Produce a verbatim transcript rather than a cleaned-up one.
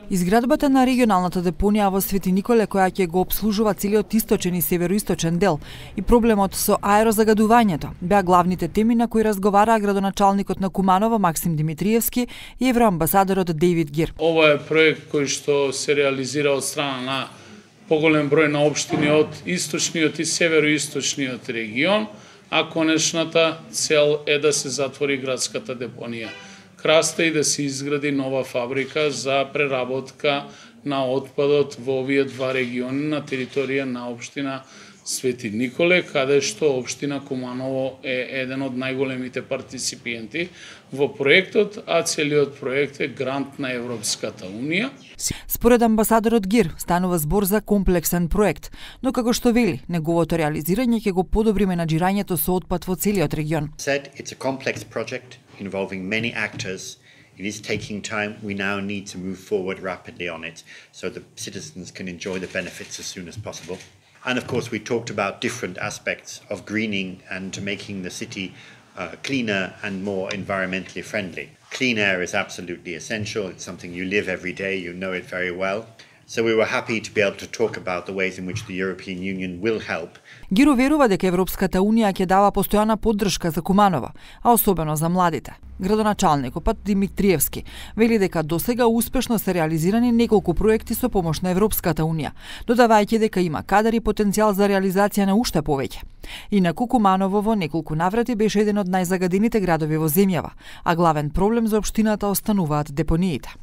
Изградбата на регионалната депонија во Свети Николе, која ќе го обслужува целиот источен и североисточен дел, и проблемот со аерозагадувањето беа главните теми на кои разговараа градоначалникот на Куманово Максим Димитриевски и евроамбасадорот Дейвид Гир. Ова е проект кој што се реализира од страна на поголем број на општини од источниот и североисточниот регион, а конечната цел е да се затвори градската депонија Краста и да се изгради нова фабрика за преработка на отпадот во овие два региони на територија на општина Свети Николе, каде што општина Куманово е еден од најголемите партиципиенти во проектот, а целиот проект е грант на Европската Унија. Според амбасадорот Гир, станува збор за комплексен проект, но како што вели, неговото реализирање ќе го подобри менаџирањето со отпад во целиот регион. Said it's a complex project involving many actors. It is taking time. We now need to move forward rapidly on it so the citizens can enjoy the benefits as soon as possible. And of course, we talked about different aspects of greening and making the city uh, cleaner and more environmentally friendly. Clean air is absolutely essential. It's something you live every day. You know it very well. So we were happy to be able to talk about the ways in which the European Union will help. Гир уверува дека Европската Унија ќе дава постојана поддршка за Куманово, а особено за младите. Градоначалникот Димитриевски вели дека досега успешно се реализирани неколку проекти со помош на Европската Унија, додавајќи дека има кадар и потенцијал за реализација на уште повеќе. Инаку Куманово во неколку наврати беше еден од најзагадените градови во земјава, а главен проблем за општината остануваат депониите.